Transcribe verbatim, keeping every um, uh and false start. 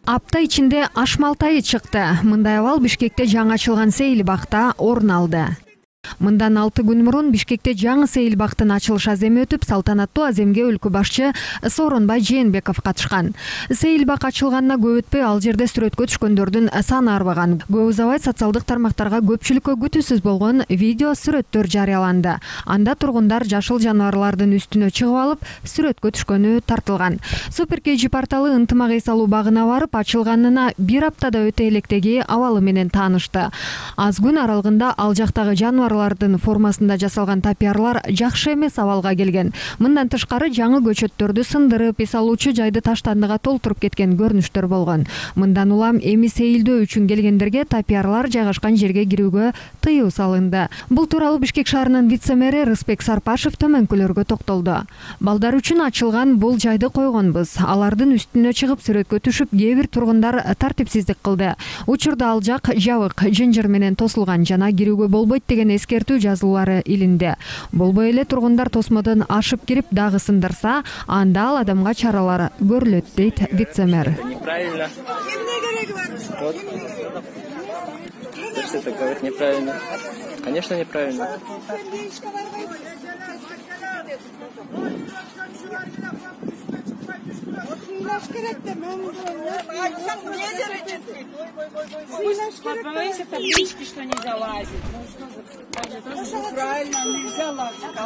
Апта ичинде аш малтайы чыкты. Мындай абал Бишкекте жаңы ачылган сейил бакта орун алды. Мындан алты күн мурун Бишкекте жаңы сейил бактын ачылыш аземи өтүп, салтанаттуу аземге өлкө башчы Сооронбай Жээнбеков катышкан. Сейил бак ачылганына көп өтпөй ал жерде сүрөткө түшкөндөрдүн саны арбаган. Көп узабай социалдык тармактарга көпчүлүккө күтүүсүз болгон видео сүрөттөр жарыяланды. Анда тургундар жашыл жаныбарлардын үстүнө чыгып алып, сүрөткө түшкөнү тартылган. Супер кей джи порталы ынтымак эс алуу багына барып, ачылганына бир аптада өтө электеги абалы менен таанышты. Аз күн аралыгында ал жактагы жаныбарлардын формасында жасалган тапиярлар жакшы эмес абалга келген. Мындан тышкары жаңы көчөттөрдү сындырып, эс алуучу жайды таштандыга толтуруп кеткен көрүнүштөр болгон. Мындан улам эми сейилдөө үчүн келгендерге тапиярлар жайгашкан жерге кирүүгө тыюу салынды. Бул тууралуу Бишкек шаарынын вице-мэри Рыспек Сарпашев төмөнкүлөргө токтолду. Балдар үчүн ачылган бул жайды койгонбуз. Алардын үстүнө чыгып сүрөткө түшүп, кээ бир тургундар тартипсиздик кылды. Учурда ал жак жабык, жынжыр менен тосулган жана кирүүгө болбойт деген эскертүү жазуулары илинде. Болбой эле тургундар тосмодон ашып кирип дагы сындырса, анда ал адамга чаралар көрүлөт, дейт вице-мэр. Неправильно. Если это говорить неправильно. Конечно, неправильно. Подбавайся таблички, что не залазит. Правильно, нельзя лазить.